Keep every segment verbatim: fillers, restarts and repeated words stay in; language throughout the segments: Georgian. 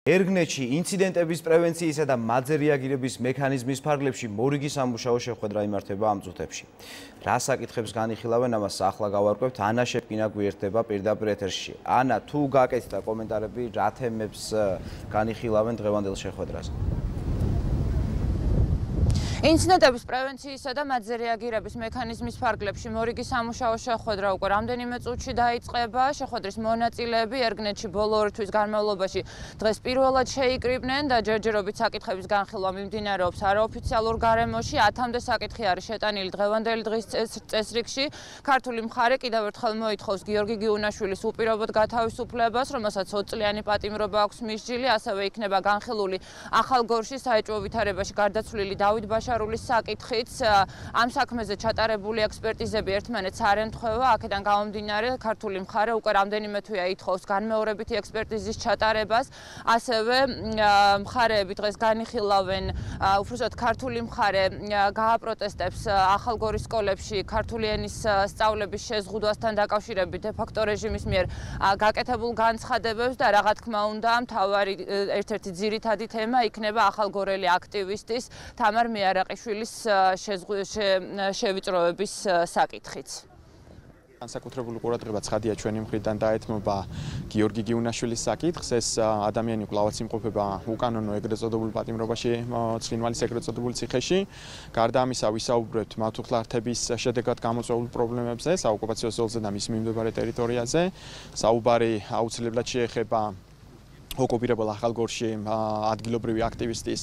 ერგნეთში ინციდენტების პრევენციისა და მათზე რეაგირების მექანიზმის ფარგლებში მორიგი სამუშაო შეხვედრა იმართება ამ წუთებში. რა საკითხებს განიხილავენ, ამას ახლა გავარკვევთ. ანა შეპკინა გვერდება პირდაპირ ეთერში. ანა, თუ გაკეთდა კომენტარები, რა თემებს განიხილავენ დღევანდელ შეხვედრაზე? ინციდენტების პრევენციისა და მათზე რეაგირების მექანიზმის ფარგლებში მორიგი სამუშაო შეხვედრა უკვე რამდენიმე წუთში დაიწყება. შეხვედრის მონაწილეები ერგნეთში ბოლო ორი თვის განმავლობაში დღეს პირველად შეიკრიბნენ და ჯერჯერობით საკითხების განხილვა მიმდინარეობს არაოფიციალურ გარემოში. ათამდე საკითხი არის შეტანილი დღევანდელი დღის წესრიგში. ქართული მხარე კიდევ ერთხელ მოითხოვს გიორგი გიუნაშვილის უპირობოდ გათავისუფლებას, რომელსაც ოცწლიანი პატიმრობა აქვს მისჯილი. ასევე იქნება განხილული ახალგორში საეჭვო ვითარებაში გარდაცვლილი დავით ბაშარულის საკითხიც. ამ საქმეზე ჩატარებული ექსპერტიზები ერთმანეთს არ ემთხვევა. აქედან გამომდინარე, ქართული მხარე უკვე რამდენიმე თვეა ითხოვს განმეორებითი ექსპერტიზის ჩატარებას. ასევე მხარეები დღეს განიხილავენ, უბრალოდ ქართული მხარე გააპროტესტებს ახალგორის სკოლებში ქართული ენის სწავლების შეზღუდვასთან დაკავშირებით დე-ფაქტო რეჟიმის მიერ გაკეთებულ განცხადებებს და რა თქმა უნდა, მთავარი ერთ-ერთი ძირითადი თემა იქნება ახალგორელი აქტივისტის თამარ მეარაყიშვილის შევიწროების საკითხიც. განსაკუთრებული ყურადღება ცხადია ჩვენი მხრიდან დაეთმობა გიორგი გიუნაშვილის საკითხს. ეს ადამიანი კვლავაც იმყოფება უკანონო ეგრეთ წოდებულ პატიმრობაში ცხინვალის ეგრეთ წოდებულ ციხეში. გარდა ამისა ვისაუბრებთ მართლმხლართების შედეგად გამოწვეულ პრობლემებზე საოკუპაციო ზოლზე და მის მიმდებარე ტერიტორიაზე. საუბარი აუცილებლად შეეხება ოკუპირებულ ახალგორში ადგილობრივი აქტივისტის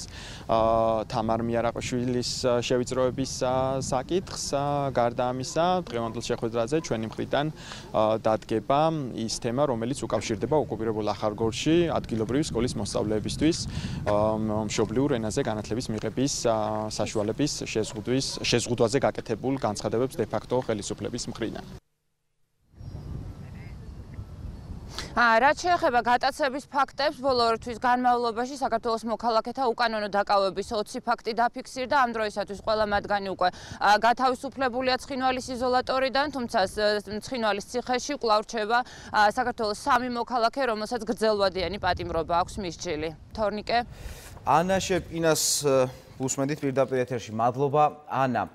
თამარ მეარაყიშვილის შევიწროების საკითხს. გარდა ამისა, დღევანდელ შეხვედრაზე ჩვენი მხრიდან დადგება ის თემა, რომელიც უკავშირდება ოკუპირებულ ახალგორში ადგილობრივი სკოლის მოსწავლეებისთვის მშობლიურ ენაზე განათლების მიღების საშუალების შეზღუდვაზე გაკეთებულ განცხადებებს დე-ფაქტო ხელისუფლების მხრიდან. რაც შეეხება გატაცების ფაქტებს, ბოლო ორი თვის განმავლობაში საქართველოს მოქალაქეთა უკანონო დაკავების ოცი ფაქტი დაფიქსირდა. ამ დროისათვის ყველა მათგანი უკვე გათავისუფლებულია ცხინვალის იზოლატორიდან, თუმცა ცხინვალის ციხეში კვლავ რჩება საქართველოს სამი მოქალაქე, რომელსაც გრძელვადიანი პატიმრობა აქვს მისჯილი. თორნიკე. ანა შეპკინას უსმენთ პირდაპირ ეთერში. მადლობა, ანა.